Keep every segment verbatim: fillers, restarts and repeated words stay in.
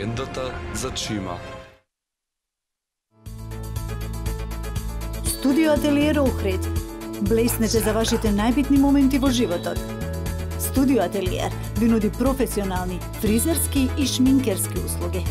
легендата за Чима. Студио Ателиер Охрид. Блеснете за вашите најбитни моменти во животот. Студио Ателиер ви нуди професионални фризерски и шминкерски услуги.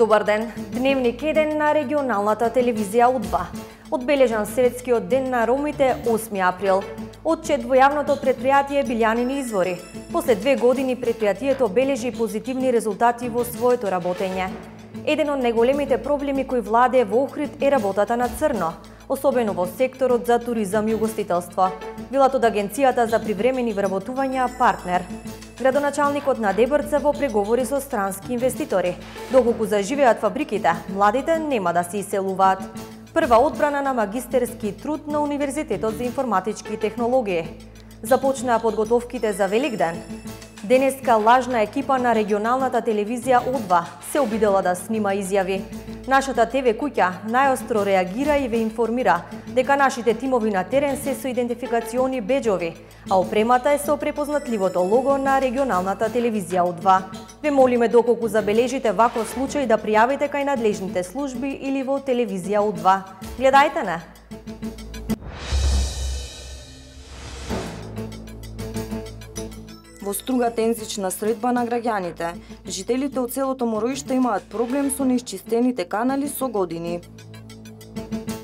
Добар ден! Дневник еден на регионалната телевизија У два. Одбележан светскиот ден на ромите осми април. Отчет во јавното предпријатие Билјанини извори. После две години предпријатието бележи позитивни резултати во своето работење. Еден од најголемите проблеми кои владее во Охрид е работата на црно, особено во секторот за туризам и угостителство. Велат од Агенцијата за привремени вработувања Партнер. Градоначалникот на Дебрца во преговори со странски инвеститори. Доколку заживеат фабриките, младите нема да се иселуваат. Прва одбрана на магистерски труд на Универзитетот за информатички технологии. Започнаа подготовките за Великден. Денеска лажна екипа на регионалната телевизија У два се обидела да снима изјави. Нашата ТВ куќа најостро реагира и ве информира дека нашите тимови на терен се со идентификациони беџови, а опремата е со препознатливото лого на регионалната телевизија У два. Ве молиме доколку забележите ваков случај да пријавите кај надлежните служби или во телевизија У два. Гледајте не! Во Струга тензична средба на граѓаните. Жителите од селото Мороишта имаат проблем со неисчистените канали со години.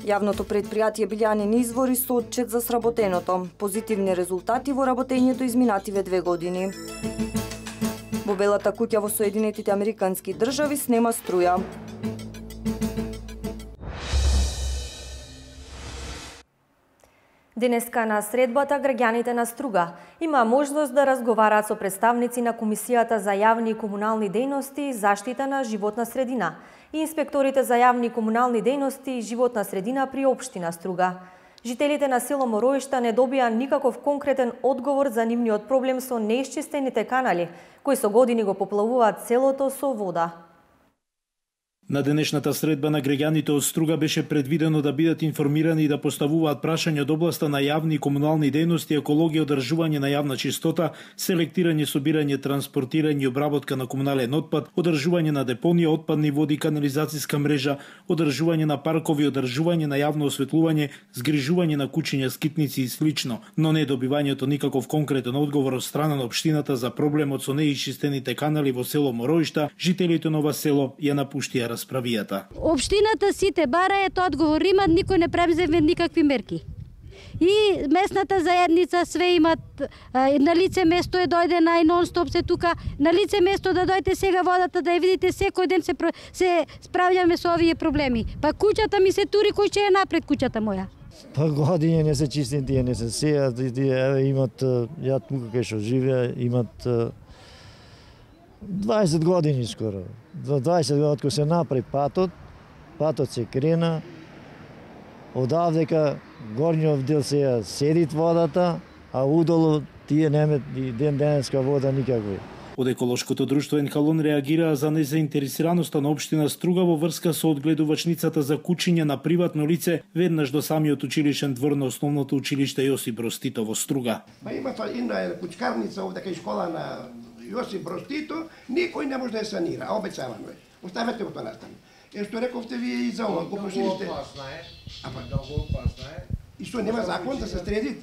Јавното предпријатие Билјанини извори со отчет за сработеното. Позитивни резултати во работењето изминативе две години. Во Белата куќа во Соединетите Американски држави снема струја. Денеска на средбата граѓаните на Струга има можност да разговараат со представници на Комисијата за јавни и комунални дејности и заштита на животна средина и инспекторите за јавни и комунални дејности и животна средина при општина Струга. Жителите на село Мороишта не добија никаков конкретен одговор за нивниот проблем со неисчистените канали, кои со години го поплавуваат селото со вода. На денешната средба на граѓаните од Струга беше предвидено да бидат информирани и да поставуваат прашања од областа на јавни и комунални дејности, екологија, одржување на јавна чистота, селектирање, собирање, транспортирање и обработка на комунален отпад, одржување на депонија, отпадни води, канализацијска мрежа, одржување на паркови, одржување на јавно осветлување, згрижување на куќиња, скитници и слично, но не добивањето никаков конкретен одговор од страна на општината за проблемот со неисчистените канали во село Мороишта. Жителите на ова село ја напуштија справијата. Општината сите бараат одговор, имат, никој не преземе никакви мерки. И местната заедница све имат, на лице место е дојде на и нон-стоп се тука, на лице место да дојдете сега водата да ја видите, секој ден се, се справljаме со овие проблеми. Па куќата ми се тури, кој ќе е напред куќата моја? Па години не се чистени, тие не се сејат, еве имат, ја тука кај што живеа, имат дваесет години скоро. дваесет години кога се направи патот, патот се крена, одавдека горниот дел се седит водата, а удолу тие немат и ден денеска вода никаква. Од еколошкото друштво Енкалон реагираа за незаинтересираноста на општина Струга во врска со одгледувачницата за кучиња на приватно лице веднаш до самиот училишен двор на основното училиште Јосип Броз Тито во Струга. Па има една кучкарница овде кај школа на Јосип Броз Тито, никој не може да ја санира, а обеќавано е. Оставете го тоа настане. Е што рековте вие и за ова, го проширите. Многу опасно е. Ама многу опасно е. И што нема закон да се стреди?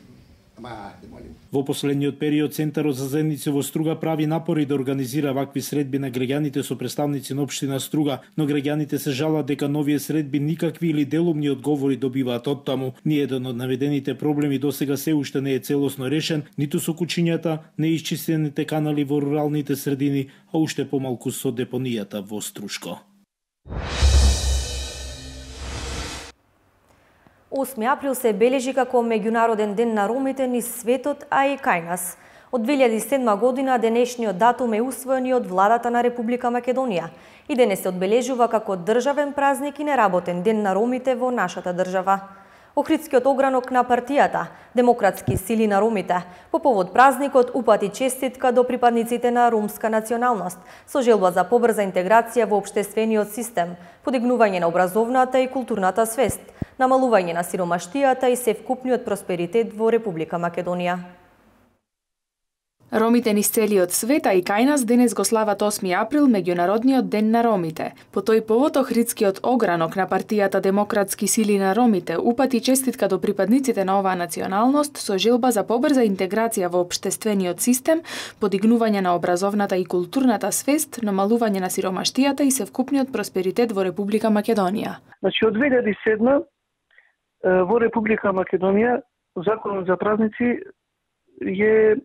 Ама, да молим. Во последниот период Центарот за заедници во Струга прави напори да организира вакви средби на граѓаните со представници на општина Струга, но граѓаните се жалат дека новие средби никакви или делумни одговори добиваат од таму. Ниеден од наведените проблеми досега се уште не е целосно решен, ниту со кучињата, неисчистените канали во руралните средини, а уште помалку со депонијата во Струшко. осми април се бележи како меѓународен ден на ромите низ светот, а и кај нас. Од две илјади и седма година денешниот датум е усвоен и од владата на Република Македонија и денес се одбележува како државен празник и неработен ден на ромите во нашата држава. Охридскиот огранок на партијата Демократски сили на ромите по повод празникот упати честитка до припадниците на ромска националност со желба за побрза интеграција во општествениот систем, подигнување на образовната и културната свест, намалување на сиромаштијата и севкупниот просперитет во Република Македонија. Ромите низ целиот свет, а и кај нас денес го слават осми април, меѓународниот ден на ромите. По тој повод Охридскиот огранок на партијата Демократски сили на ромите упати честитка до припадниците на оваа националност со желба за побрза интеграција во општествениот систем, подигнување на образовната и културната свест, намалување на сиромаштијата и севкупниот просперитет во Република Македонија. Значи од две илјади и седма во Република Македонија законот за празници е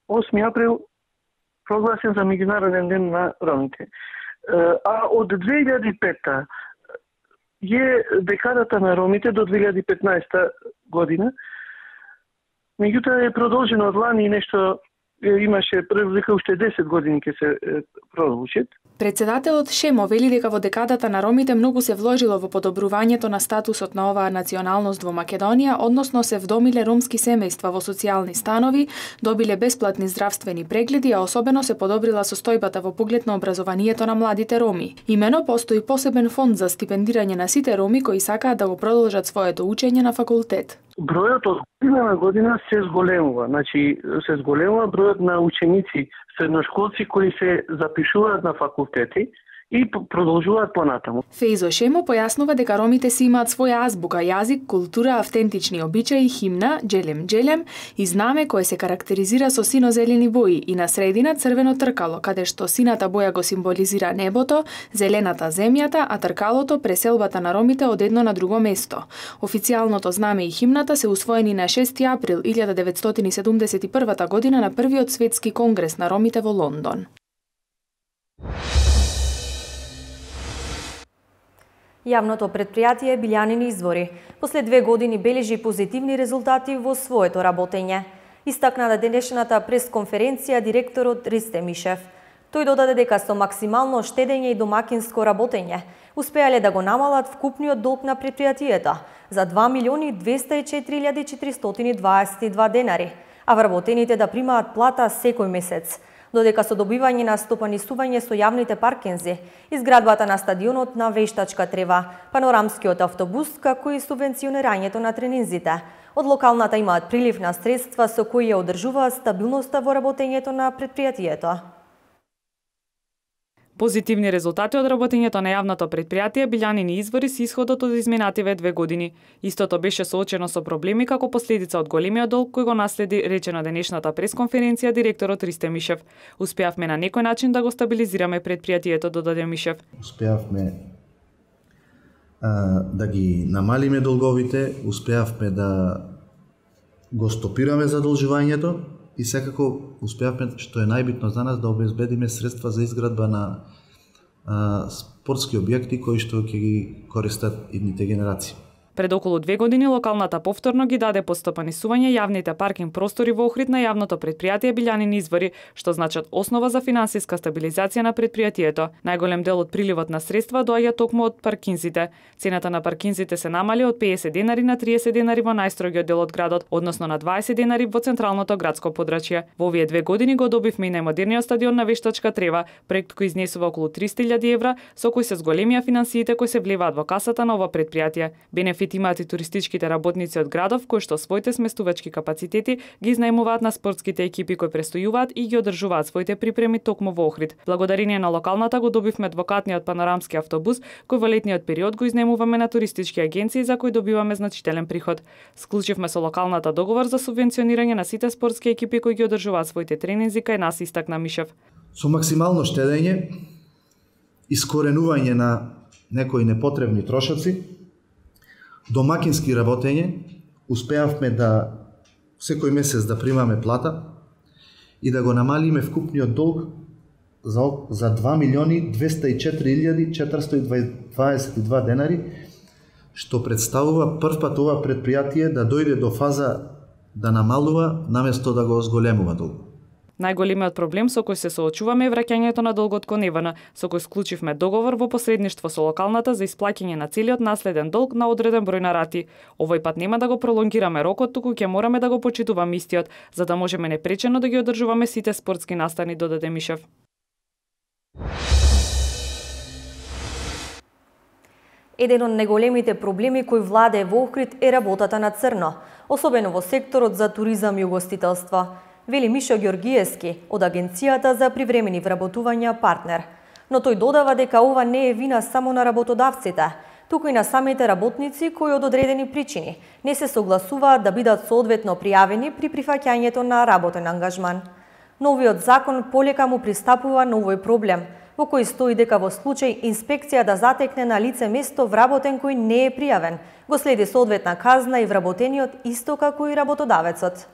осми април прогласен за меѓународен ден на ромите. А од две илјади и пета е декадата на ромите до две илјади и петнаесета година. Меѓутоа е продолжено од лани и нешто имаше превика уште десет години ќе се продолжат. Председателот Шемо вели дека во декадата на ромите многу се вложило во подобрувањето на статусот на оваа националност во Македонија, односно се вдомиле ромски семејства во социјални станови, добиле бесплатни здравствени прегледи, а особено се подобрила состојбата во поглед на образованието на младите роми. Имено постои посебен фонд за стипендирање на сите роми кои сакаат да го продолжат своето учење на факултет. Бројот од година на година се зголемува, значи се зголемува бројот на ученици, средношколци кои се запишуваат на факултети и продолжуваат понатаму. Фејзо Шемо појаснува дека ромите си имаат своја азбука, јазик, култура, автентични обичаи, химна, джелем джелем и знаме кое се карактеризира со сино-зелени бои и на средина црвено тркало, каде што сината боја го символизира небото, зелената земјата, а тркалото преселбата на ромите од едно на друго место. Официјалното знаме и химната се усвоени на шести април илјада деветстотини и седумдесет и првата година на првиот светски конгрес на ромите во Лондон. Јавното предпријатие Билјанини извори после две години бележи позитивни резултати во своето работење. Истакна на денешната пресконференција директорот Ристе Мишев. Тој додаде дека со максимално штедење и домакинско работење успеале да го намалат вкупниот долг на предпријатието за два милиони двесте и четири илјади четиристотини дваесет и два денари, а вработените да примаат плата секој месец. Додека со добивање на стопанисување со јавните паркинзи, изградбата на стадионот на Вештачка трева, панорамскиот автобус, како и субвенционирањето на тренинзите, од локалната имаат прилив на средства со кои ја одржуваат стабилноста во работењето на предпријатието. Позитивни резултати од работењето на јавното предпријатие Билјанини извори се исходот од изминативе две години. Истото беше соочено со проблеми како последица од големиот долг кој го наследи, рече на денешната пресконференција директорот Ристе Мишев. Успеавме на некој начин да го стабилизираме предпријатието, додаде Мишев. Успеавме а, да ги намалиме долговите, успеавме да го стопираме задолжувањето, и секако успеавме, што е најбитно за нас, да обезбедиме средства за изградба на а, спортски објекти кои што ќе ги користат идните генерации. Пред околу две години локалната повторно ги даде под стопанисување јавните паркинг простори во Охрид на јавното предпријатие Билјанини извори, што значат основа за финансиска стабилизација на предпријатието. Најголем дел од приливот на средства доаѓа токму од паркинзите. Цената на паркинзите се намали од пеесет денари на триесет денари во најстрогиот дел од градот, односно на дваесет денари во централното градско подрачје. Во овие две години го добивме и најмодерниот стадион на Вештачка трева, проект кој изнесува околу триста илјади евра, со кој се зголемија финансиите кои се влеваат во касата на ова предпријатие. Бенефит имаат и туристичките работници од градов кои што своите сместувачки капацитети ги изнајмуваат на спортските екипи кои престојуваат и ги одржуваат своите припреми токму во Охрид. Благодарение на локалната го добивме адвокатниот панорамски автобус кој во летниот период го изнајмуваме на туристички агенции за кои добиваме значителен приход. Склучивме со локалната договор за субвенционирање на сите спортски екипи кои ги одржуваат своите тренинзи кај нас, истакна Мишев. Со максимално штедење, искоренување на некои непотребни трошоци, домакински работење, успеавме да секој месец да примаме плата и да го намалиме вкупниот долг за, за два милиони двесте и четири илјади четиристотини дваесет и два денари, што представува првпат ова предпријатие да дојде до фаза да намалува наместо да го зголемува долг. Најголемиот проблем со кој се соочуваме е враќањето на долгот кон Евана, со кој склучивме договор во посредништво со локалната за исплаќање на целиот наследен долг на одреден број на рати. Овој пат нема да го пролонгираме рокот, туку ќе мораме да го почитуваме истиот, за да можеме непречено да ги одржуваме сите спортски настани, додаде Мишев. Еден од најголемите проблеми кои владее во Охрид е работата на црно, особено во секторот за туризам и угостителство, вели Мишо Ѓоргиевски од Агенцијата за привремени вработувања Партнер. Но тој додава дека ова не е вина само на работодавците, туку и на самите работници кои од одредени причини не се согласуваат да бидат соодветно пријавени при прифаќањето на работен ангажман. Новиот закон полека му пристапува на овој проблем, во кој стои дека во случај инспекција да затекне на лице место вработен кој не е пријавен, го следи соодветна казна и вработениот исто како и работодавецот.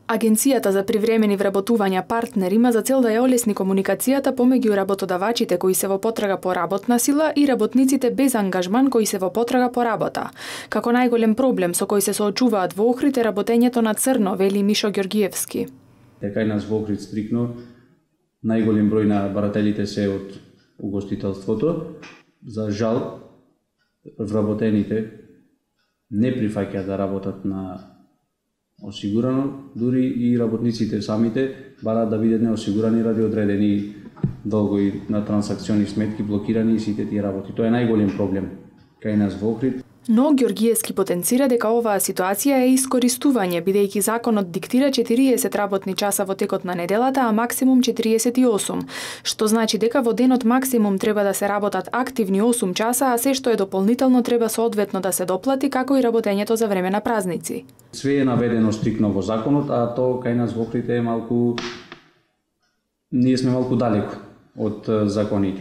Агенцијата за привремени вработувања Партнер има за цел да ја олесни комуникацијата помеѓу работодавачите кои се во потрага по работна сила и работниците без ангажман кои се во потрага по работа. Како најголем проблем со кој се соочуваат во Охрид е работењето на црно, вели Мишо Ѓоргиевски. Дека и нас во Охрид стрикно најголем број на барателите се од угостителството. За жал, вработените не прифаќаат да работат на осигурано, дури и работниците самите бараат да бидат неосигурани ради одредени долгови на трансакциони сметки блокирани и сите тие работи. Тоа е најголем проблем кај нас во Охрид. Но Ѓоргиевски потенцира дека оваа ситуација е искористување, бидејќи законот диктира четириесет работни часа во текот на неделата, а максимум четириесет и осум, што значи дека во денот максимум треба да се работат активни осум часа, а се што е дополнително треба соодветно да се доплати, како и работењето за време на празници. Све е наведено стрикно во законот, а тоа кај нас во Охрид е малку... ние сме малку далеко од законите.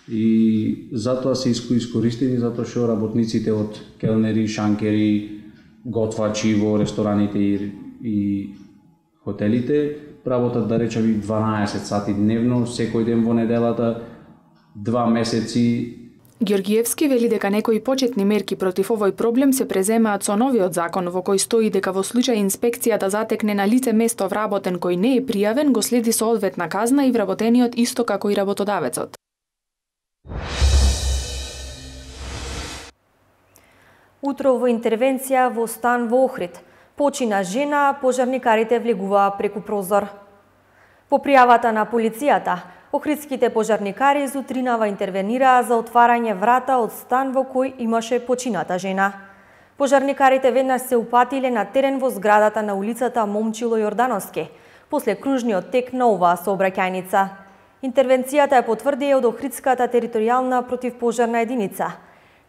И затоа се искористени, затоа што работниците од келнери, шанкери, готвачи во рестораните и, и хотелите работат, да речеме, дванаесет сати дневно, секој ден во неделата, два месеци. Ѓоргиевски вели дека некои почетни мерки против овој проблем се преземаат со новиот закон во кој стои дека во случај инспекција да затекне на лице место вработен кој не е пријавен, го следи соодветна казна и вработениот исто како и работодавецот. Утро во интервенција во стан во Охрид. Почина жена, а пожарникарите влегуваа преку прозор. По пријавата на полицијата, охридските пожарникари зутринава интервенираа за отварање врата од стан во кој имаше почината жена. Пожарникарите веднаш се упатиле на терен во зградата на улицата Момчило Јордановски, после кружниот тек на оваа сообраќајница. Интервенцијата ја потврди од Охридската територијална противпожарна единица.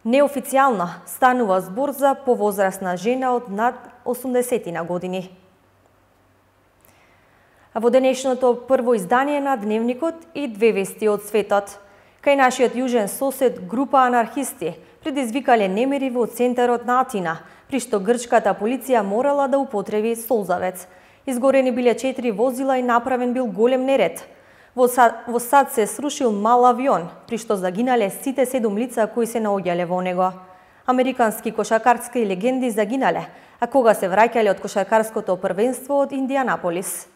Неофицијално станува збор за повозрасна жена од над осумдесетина години. А во денешното прво издание на Дневникот и две вести од светот. Кај нашиот јужен сосед група анархисти предизвикале немири во центарот на Атина, при што грчката полиција морала да употреби солзавец. Изгорени биле четири возила и направен бил голем неред. Во Сад, во Сад се срушил мал авион, при што загинале сите седум лица кои се наоѓале во него. Американски кошаркарски легенди загинале, а кога се враќале од кошаркарското првенство од Индианаполис.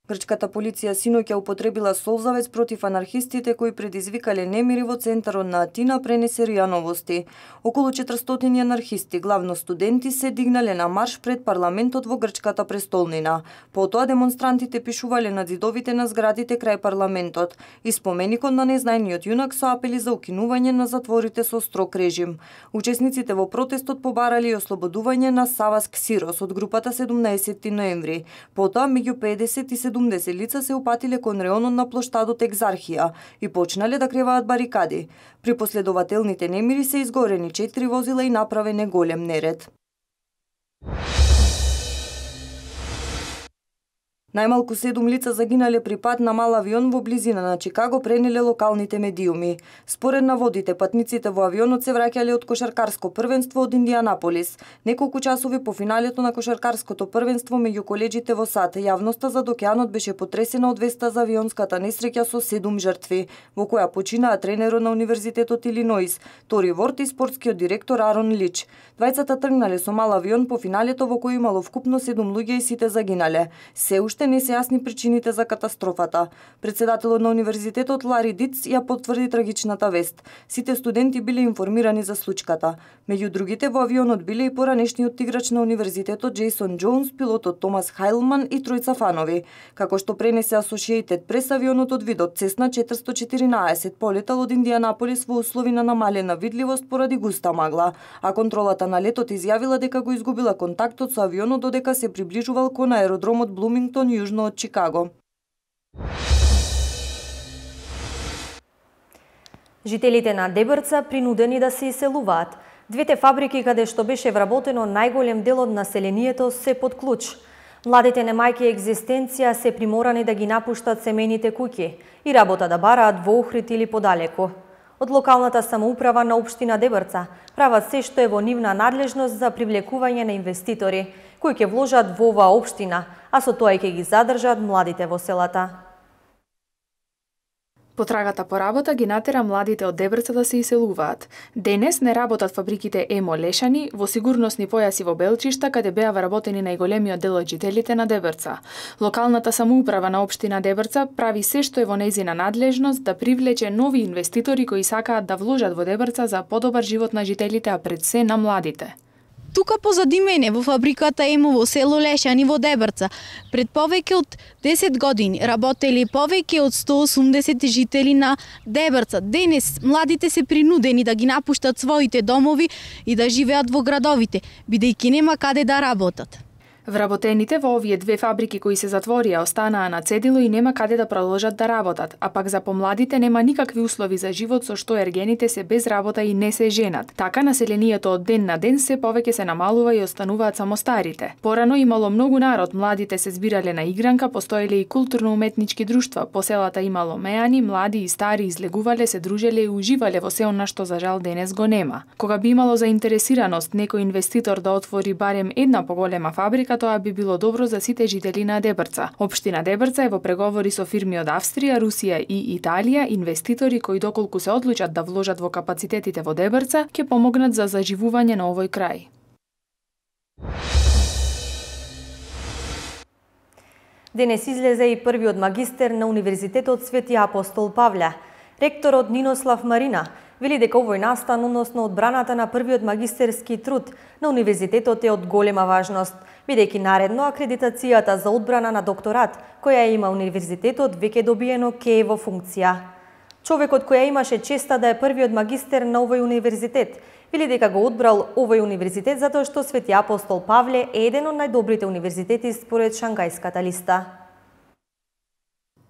Грчката полиција синоќа употребила солзавец против анархистите кои предизвикале немири во центарот на Атина, пренесе РИА Новости. Околу четиристотини анархисти, главно студенти, се дигнале на марш пред парламентот во грчката престолнина. Потоа демонстрантите пишувале на зидовите на зградите крај парламентот и споменикот на незнајниот јунак со апели за укинување на затворите со строг режим. Учесниците во протестот побарали и ослободување на Савас Ксирос од групата седумнаесетти ноември. Потоа меѓу педесет и седумдесет лица се упатиле кон реонот на плоштадот Екзархија и почнале да креваат барикади. При последователните немири се изгорени четири возила и направен голем неред. Најмалку седум лица загинале при пад на мал авион во близина на Чикаго, пренеле локалните медиуми. Според наводите, патниците во авионот се враќале од кошаркарско првенство од Индианаполис. Неколку часови по финалето на кошаркарското првенство меѓу коледжите во САД, јавноста зад океанот беше потресена од веста за авионската несреќа со седум жртви, во која починаа тренерот на Универзитетот Илиноис, Тори Ворт и спортскиот директор Арон Лич. Двајцата тргнале со мал авион по финалето во кој имало вкупно седум луѓе и сите загинале. Се уште не се јасни причините за катастрофата. Председателот на универзитетот Лари Диц ја потврди трагичната вест. Сите студенти биле информирани за случката. Меѓу другите во авионот биле и поранешниот играч на универзитетот Джейсон Џоунс, пилотот Томас Хайлман и тројца фанови. Како што пренесе Associated Press, авионот од видот Цесна четиристотини и четиринаесет полетал од Индианаполис во услови на намалена видливост поради густа магла, а контролата на летот изјавила дека го изгубила контактот со авионот додека се приближувал кон аеродромот Блумингтон јужно од Чикаго. Жителите на Дебрца принудени да се иселуваат. Двете фабрики каде што беше вработено најголем дел од населението се под клуч. Младите немајки екзистенција се приморани да ги напуштат семејните куќи и работа да бараат во Охрид или подалеку. Од локалната самоуправа на општина Дебрца прават се што е во нивна надлежност за привлекување на инвеститори кои ќе вложат во оваа општина, а со тоа и ќе ги задржат младите во селата. Потрагата по работа ги натера младите од Дебрца да се иселуваат. Денес не работат фабриките Емо Лешани во сигурносни појаси во Белчишта, каде беа вработени најголемиот дел од жителите на Дебрца. Локалната самоуправа на општина Дебрца прави се што е во нејзина надлежност да привлече нови инвеститори кои сакаат да вложат во Дебрца за подобар живот на жителите, а пред се на младите. Тука позади мене во фабриката Емо во село Лешани во Дебрца пред повеќе од десет години работели повеќе од сто и осумдесет жители на Дебрца. Денес младите се принудени да ги напуштат своите домови и да живеат во градовите, бидејќи нема каде да работат. Вработените во овие две фабрики кои се затворија останаа на цедило и нема каде да продолжат да работат, а пак за помладите нема никакви услови за живот со што ергените се без работа и не се женат. Така населението од ден на ден се повеќе се намалува и остануваат само старите. Порано имало многу народ, младите се збирале на игранка, постоеле и културно-уметнички друштва, по селата имало мејани, млади и стари излегувале, се дружеле и уживале во се она што за жал денес го нема. Кога би имало заинтересираност некој инвеститор да отвори барем една поголема фабрика, тоа би било добро за сите жители на Дебрца. Општина Дебрца е во преговори со фирми од Австрија, Русија и Италија, инвеститори кои доколку се одлучат да вложат во капацитетите во Дебрца, ќе помогнат за заживување на овој крај. Денес излезе и првиот магистер на Универзитетот Свети Апостол Павле. Ректорот Нинослав Марина вели дека овој настан, односно одбраната на првиот магистерски труд на универзитетот е од голема важност, бидејќи наредно акредитацијата за одбрана на докторат, која има универзитетот, веќе добиено ке е во функција. Човекот која имаше честа да е првиот магистер на овој универзитет, вели дека го одбрал овој универзитет затоа што Свети Апостол Павле е еден од најдобрите универзитети според Шангајската листа.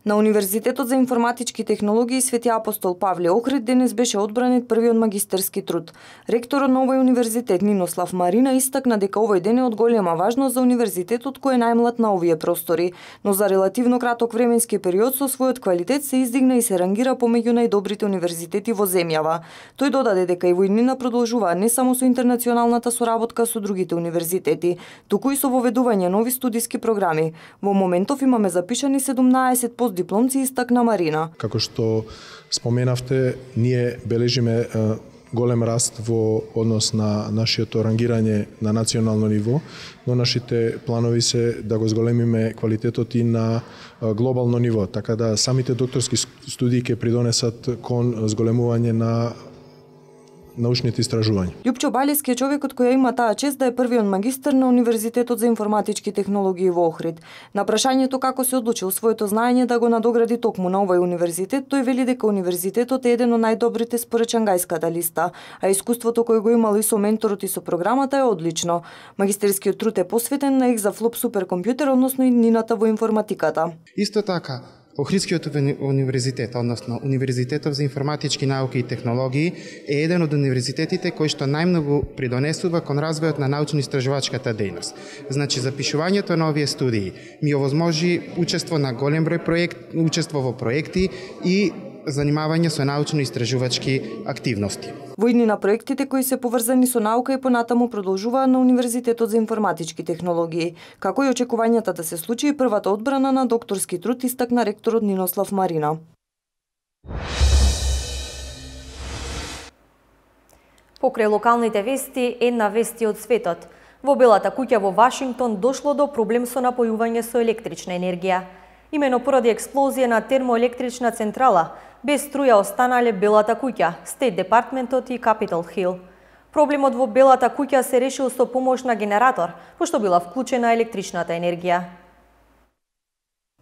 На Универзитетот за информатички технологии Свети Апостол Павле Охрид денес беше одбранет првиот магистерски труд. Ректорот на овој универзитет Нинослав Марина истакна дека овој ден е од голема важност за универзитетот кој е најмлад на овие простори, но за релативно краток временски период со својот квалитет се издигна и се рангира помеѓу најдобрите универзитети во земјава. Тој додаде дека и во иднина продолжува не само со интернационалната соработка со другите универзитети, туку и со воведување нови студиски програми. Во моментов имаме запишани седумнаесет дипломци, истакна Марина. Како што споменавте, ние бележиме голем раст во однос на нашето рангирање на национално ниво, но нашите планови се да го зголемиме квалитетот и на глобално ниво, така да самите докторски студии ќе придонесат кон зголемување на научните истражувања. Љупчо Балиски е човекот кој има таа чест да е првиот магистер на Универзитетот за информатички технологии во Охрид. На прашањето како се одлучил своето знаење да го надогради токму на овој универзитет, тој вели дека универзитетот е еден од најдобрите според Шангајската листа, а искуството кое го имал и со менторот и со програмата е одлично. Магистерскиот труд е посветен на екзафлоп суперкомпјутер, односно иднината во информатиката. Исто така, Охридскиот универзитет, односно Универзитетот за информатички науки и технологии, е еден од универзитетите кој што најмногу придонесува кон развојот на научно-истражувачката дејност. Значи, запишувањето на овие студии ми овозможи учество на голем број проект, учество во проекти и занимавање со научно-истражувачки активности. Во идни на проектите кои се поврзани со наука и понатаму продолжуваат на Универзитетот за информатички технологии, како и очекувањата да се случи првата одбрана на докторски труд, истакна ректорот Нинослав Марина. Покрај локалните вести, една вести од светот. Во Белата куќа во Вашингтон дошло до проблем со напојување со електрична енергија. Имено поради експлозија на термоелектрична централа, без струја останале Белата куќа, Стейт Департментот и Капитол Хил. Проблемот во Белата куќа се решил со помош на генератор, пошто била вклучена електричната енергија.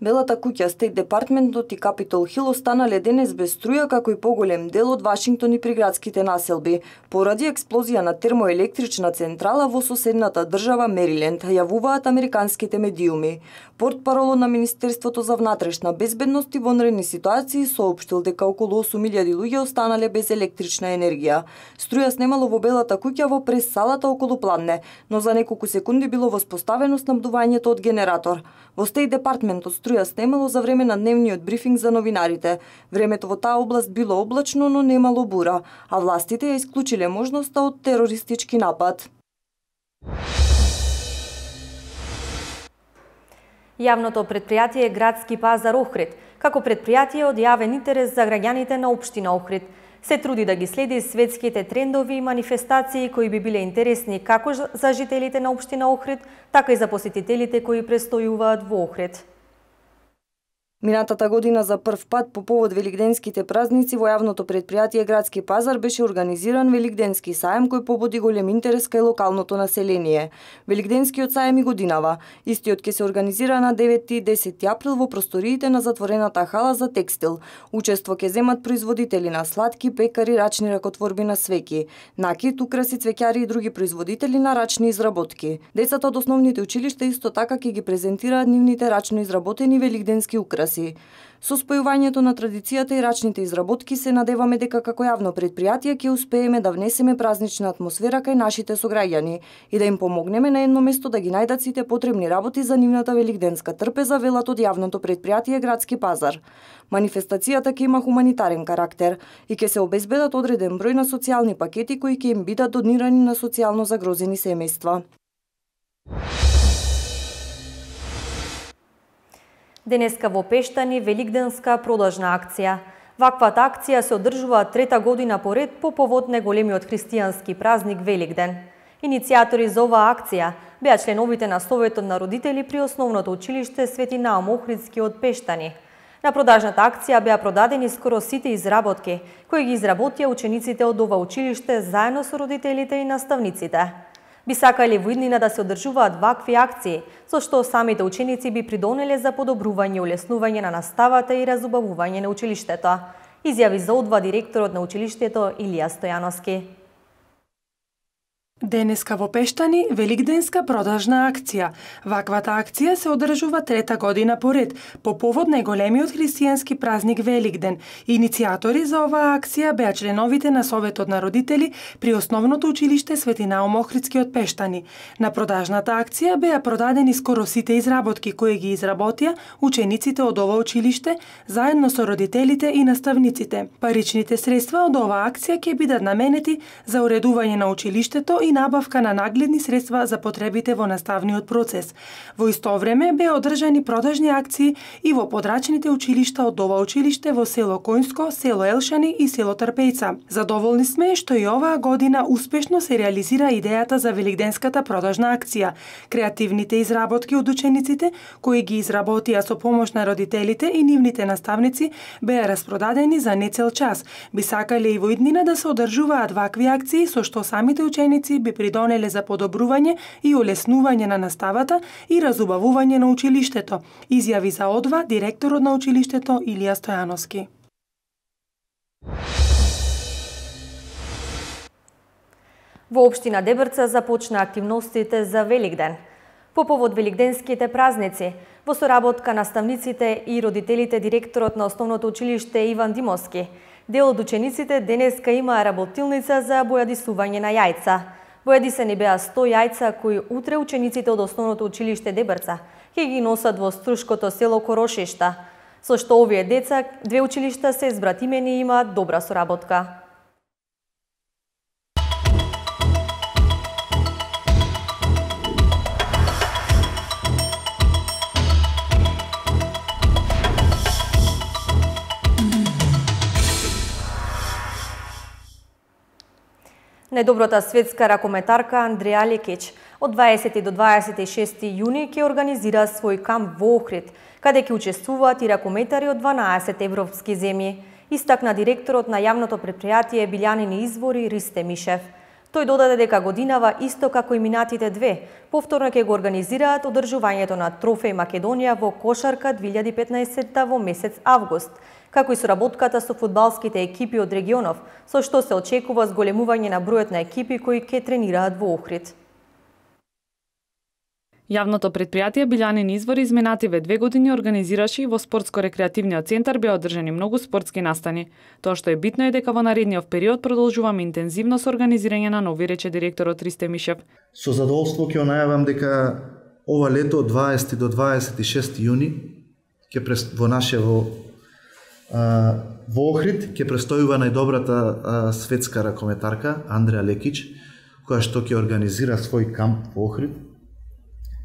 Белата куќа, Стейт Департментот и Капитол Хил останале денес без струја, како и поголем дел од Вашингтон и приградските населби, поради експлозија на термоелектрична централа во соседната држава Мериленд, јавуваат американските медиуми. Портпаролот на Министерството за внатрешна безбедност и вонредни ситуации соопштил дека околу осум илјади луѓе останале без електрична енергија. Струја снемало во Белата куќа во прес-салата околу пладне, но за неколку секунди било воспоставено снабдувањето од генератор. Во Стейт Департментот струја снемало за време на дневниот брифинг за новинарите. Времето во таа област било облачно, но немало бура, а властите ја исклучиле можноста од терористички напад. Јавното предпријатие Градски пазар Охрид, како предпријатие од јавен интерес за граѓаните на општина Охрид, се труди да ги следи светските трендови и манифестации кои би биле интересни како за жителите на општина Охрид, така и за посетителите кои престојуваат во Охрид. Минатата година за прв пат по повод великденските празници во јавното предпријатие Градски пазар беше организиран великденски саем кој побуди голем интерес кај локалното население. Великденскиот саем и годинава. Истиот ќе се организира на девети и десети април во просториите на затворената хала за текстил. Учество ќе земат производители на сладки, пекари, рачни ракотворби на свеќи, накит, украси, цвеќари и други производители на рачни изработки. Децата од основните училишта исто така ќе ги презентираат нивните рачно изработени великденски украси. Со спојувањето на традицијата и рачните изработки се надеваме дека како јавно предпријатие ќе успееме да внесеме празнична атмосфера кај нашите сограѓани и да им помогнеме на едно место да ги најдат сите потребни работи за нивната великденска трпеза, велат од јавното предпријатие Градски пазар. Манифестацијата ќе има хуманитарен карактер и ќе се обезбедат одреден број на социјални пакети кои ќе им бидат донирани на социјално загрозени семејства. Денеска во Пештани великденска продажна акција. Ваквата акција се одржува трета година поред по повод неголемиот христијански празник Великден. Иницијатори за оваа акција беа членовите на Советот на родители при основното училиште Свети Наум Охридски од Пештани. На продажната акција беа продадени скоро сите изработки кои ги изработија учениците од ова училиште заедно со родителите и наставниците. Би сакале во иднина да се одржуваат вакви акции, со што самите ученици би придонеле за подобрување и улеснување на наставата и разубавување на училиштето, изјави за одва директорот на училиштето Илија Стојановски. Денеска во Пештани великденска продажна акција. Ваквата акција се одржува трета година поред по повод најголемиот христијански празник Великден. Иницијатори за оваа акција беа членовите на Советот на родители при основното училиште Свети Наум Охридски од Пештани. На продажната акција беа продадени скоро сите изработки кои ги изработија учениците од ова училиште заедно со родителите и наставниците. Паричните средства од оваа акција ќе бидат наменети за уредување на училиштето и набавка на нагледни средства за потребите во наставниот процес. Во исто време беа одржани продажни акции и во подрачните училишта од ова училиште во село Коњско, село Елшани и село Трпејца. Задоволни сме што и оваа година успешно се реализира идејата за великденската продажна акција. Креативните изработки од учениците, кои ги изработија со помош на родителите и нивните наставници, беа распродадени за нецел час. Би сакале и во иднина да се одржуваат вакви акции со што самите ученици би придонеле за подобрување и улеснување на наставата и разубавување на училиштето, изјави за одва директорот на училиштето Илија Стојановски. Во општина Дебрца започна активностите за Великден. По повод великденските празници, во соработка наставниците и родителите, директорот на основното училиште Иван Димовски, дел од учениците денеска имаа работилница за бојадисување на јајца. Бојадисани беа сто јајца кои утре учениците од основното училиште Дебрца ќе ги носат во струшкото село Корошишта, со што овие деца две училишта се збратимени и имаат добра соработка. Најдобрата светска ракометарка Андреја Лекич од дваесети до дваесет и шести јуни ќе организира свој камп во Охрид, каде ќе учествуваат и ракометари од дванаесет европски земји, истакна директорот на јавното претпријатие Билјанини извори Ристе Мишев. Тој додаде дека годинава исто како и минатите две, повторно ќе го организираат одржувањето на Трофеј Македонија во кошарка две илјади и петнаесетта во месец август, како и соработката со фудбалските екипи од регионов, со што се очекува зголемување на бројот на екипи кои ќе тренираат во Охрид. Јавното претпријатие Билјанини извори изминативе две години организираше и во спортско-рекреативниот центар беа одржани многу спортски настани. Тоа што е битно е дека во наредниот период продолжуваме интензивно со организирање на нови, рече директорот Ристе Мишев. Со задоволство ќе најавам дека ова лето од дваесети до дваесет и шести јуни ќе прес... во наше во а, во Охрид ќе престојува најдобрата а, светска ракометарка Андреја Лекич, која што ќе организира свој камп во Охрид,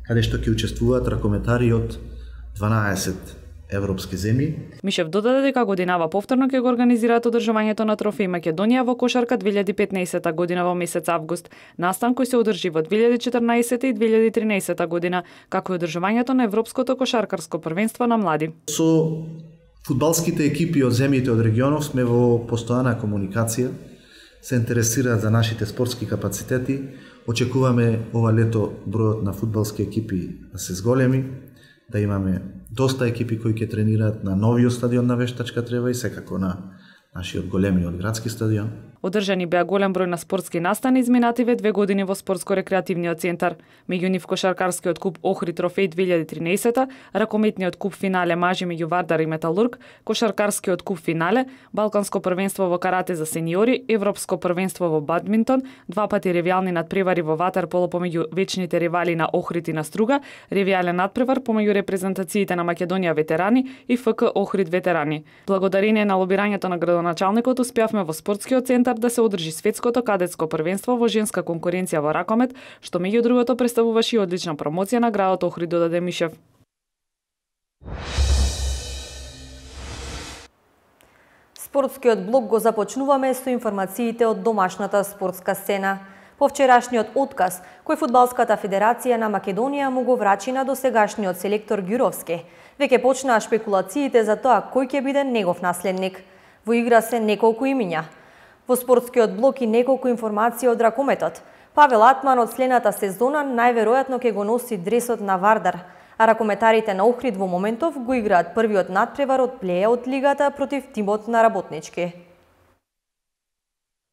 каде што ќе учествуваат ракометари од дванаесет европски земји. Мишев додаде дека годинава повторно ќе го организираат одржувањето на Трофеј Македонија во кошарка две илјади и петнаесетта година во месец август, настан кој се одржи во две илјади и четрнаесетта и две илјади и тринаесетта година, како и одржувањето на Европското кошаркарско првенство на млади. Со фудбалските екипи од земјите од регионов сме во постојана комуникација, се интересираат за нашите спортски капацитети. Очекуваме ова лето бројот на фудбалски екипи да се зголеми, да имаме доста екипи кои ќе тренираат на новиот стадион на Вештачка трева и секако на нашиот големиот градски стадион. Одржани беа голем број на спортски настани изминативе две години во спортско-рекреативниот центар. Меѓу нив кошаркарскиот куп Охрид Трофеј две илјади и тринаесетта, ракометниот куп финале мажи меѓу Вардар и Металург, кошаркарскиот куп финале, Балканско првенство во карате за сениори, Европско првенство во бадминтон, два пати ревијални надпревари во ватерполо помеѓу вечните ривали на Охрид и на Струга, ревијален надпревар помеѓу репрезентациите на Македонија ветерани и ФК Охрид ветерани. Благодарение на лобирањето на градоначалникот успеавме во спортскиот центар да се одржи светското кадетско првенство во женска конкуренција во ракомет, што меѓу другото представуваше и одлична промоција на градот Охрид, додаде Мишев. Спортскиот блок го започнуваме со информациите од домашната спортска сцена. По вчерашниот отказ, кој Фудбалската федерација на Македонија му го врачи на досегашниот селектор Ѓуровски, веќе почнаа шпекулациите за тоа кој ќе биде негов наследник. Во игра се неколку имиња. Во спортскиот блок и неколку информации од ракометот. Павел Атман од следната сезона најверојатно ќе го носи дресот на Вардар, а ракометарите на Охрид во моментов го играат првиот надпревар од плејаут лигата против тимот на Работнички.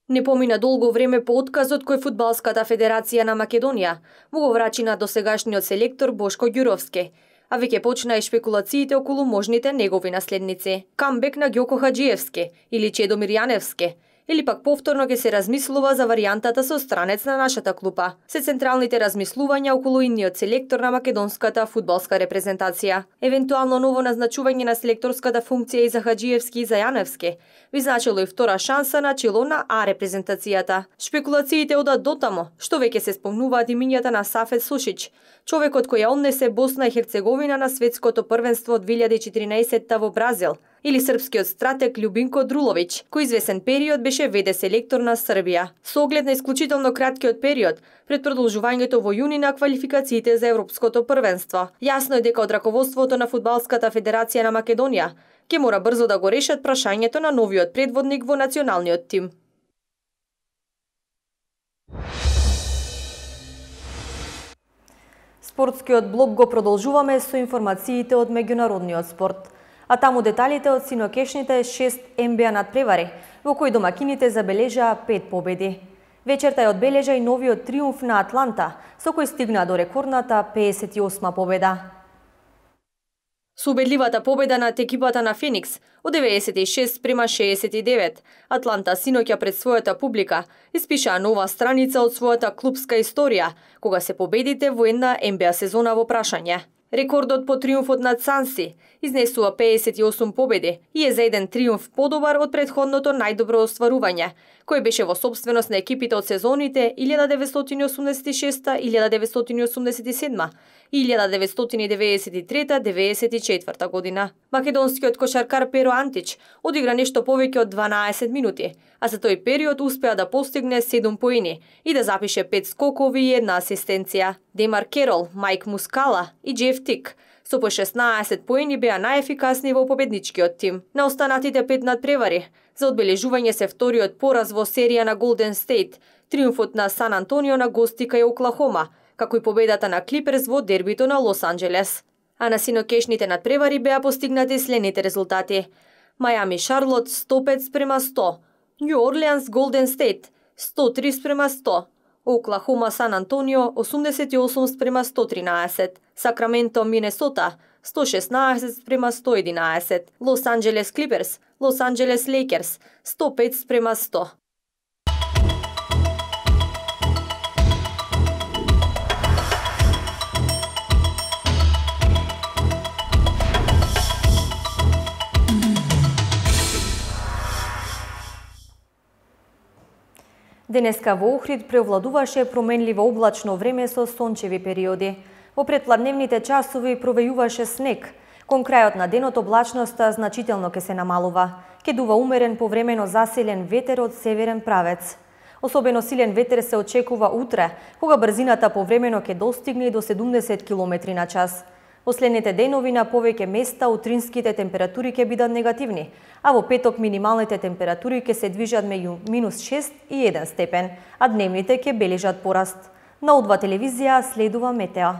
Не помина долго време по отказот кој Фудбалската федерација на Македонија му го врачи на досегашниот селектор Бошко Ѓуровски, а веќе почна и шпекулациите околу можните негови наследници. Камбек на Ѓоко Хаджиевски или Чедомир Јаневски, или пак повторно ќе се размислува за варијантата со странец на нашата клупа. Се централните размислувања околу идниот селектор на македонската фудбалска репрезентација. Евентуално ново назначување на селекторската функција и за Хаджиевски и за Јаневски би значило и втора шанса на чело на А репрезентацијата. Шпекулациите одат дотамо, што веќе се спомнуваат имињата на Сафет Сушич, човекот кој ја однесе Босна и Херцеговина на светското првенство две илјади и четиринаесетта во Бразил, или српскиот стратег Љубинко Друловиќ, кој извесен период беше веде селектор на Србија. Со оглед на исклучително краткиот период пред продолжувањето во јуни на квалификациите за Европското првенство, јасно е дека од раководството на Фудбалската федерација на Македонија ќе мора брзо да го решат прашањето на новиот предводник во националниот тим. Спортскиот блок го продолжуваме со информациите од меѓународниот спорт, а таму деталите од синокешните шест Ен Би А надпревари, во кои домакините забележаа пет победи. Вечерта ја одбележа и новиот триумф на Атланта, со кој стигна до рекордната педесет и осма победа. Со убедливата победа над екипата на Феникс од деветдесет и шест спрема шеесет и девет, Атланта синоќа пред својата публика испишаа нова страница од својата клубска историја, кога се победите во една Н Б А сезона во прашање. Рекордот по триумфот над Санси изнесува педесет и осум победи и е за еден триумф подобар од претходното најдобро остварување, кој беше во собственост на екипите од сезоните илјада деветстотини осумдесет и шеста - илјада деветстотини осумдесет и седма и илјада деветстотини деветдесет и трета - деветдесет и четврта година. Македонскиот кошаркар Перо Антич одигра нешто повеќе од дванаесет минути, а за тој период успеа да постигне седум поени и да запише пет скокови и една асистенција. Демар Керол, Майк Мускала и Джеф Тик со по шеснаесет поени беа најефикасни во победничкиот тим. На останатите пет надпревари за одбележување се вториот пораз во серија на Голден Стейт, триумфот на Сан Антонио на гости кај Оклахома, како и победата на Клиперс во дербито на Лос Анџелес. А на синокешните надпревари беа постигнати следните резултати: Мајами Шарлот сто пет спрема сто, Њу Орлеанс Голден Стейт сто три спрема сто, Оклахома Сан Антонио осумдесет и осум спрема сто тринаесет, Сакраменто Минесота сто шеснаесет спрема сто единаесет, Лос Анџелес Клиперс Лос Анџелес Лейкерс сто пет спрема сто. Денеска во Охрид преовладуваше променливо облачно време со сончеви периоди. Во предпладневните часови провејуваше снег. Кон крајот на денот облачноста значително ќе се намалува. Ќе дува умерен повремено засилен ветер од северен правец. Особено силен ветер се очекува утре, кога брзината повремено ќе достигне до седумдесет километри на час. Во следните денови на повеќе места утринските температури ќе бидат негативни, а во петок минималните температури ќе се движат меѓу минус шест и еден степен, а дневните ќе бележат пораст. На О два телевизија следува метео.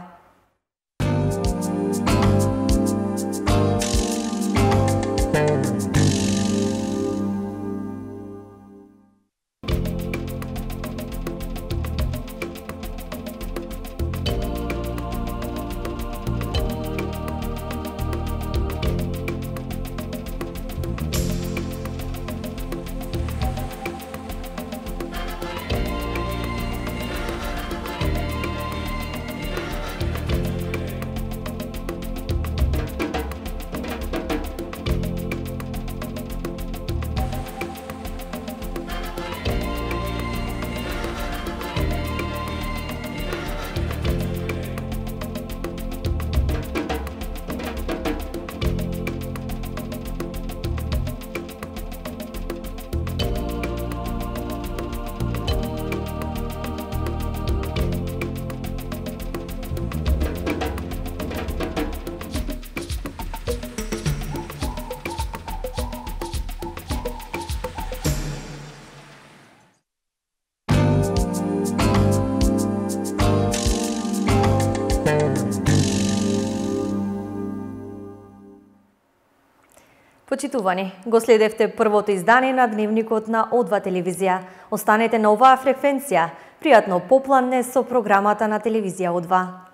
Почитувани, го следевте првото издание на Дневникот на О два телевизија. Останете на оваа фреквенција. Пријатно попланне со програмата на телевизија О два.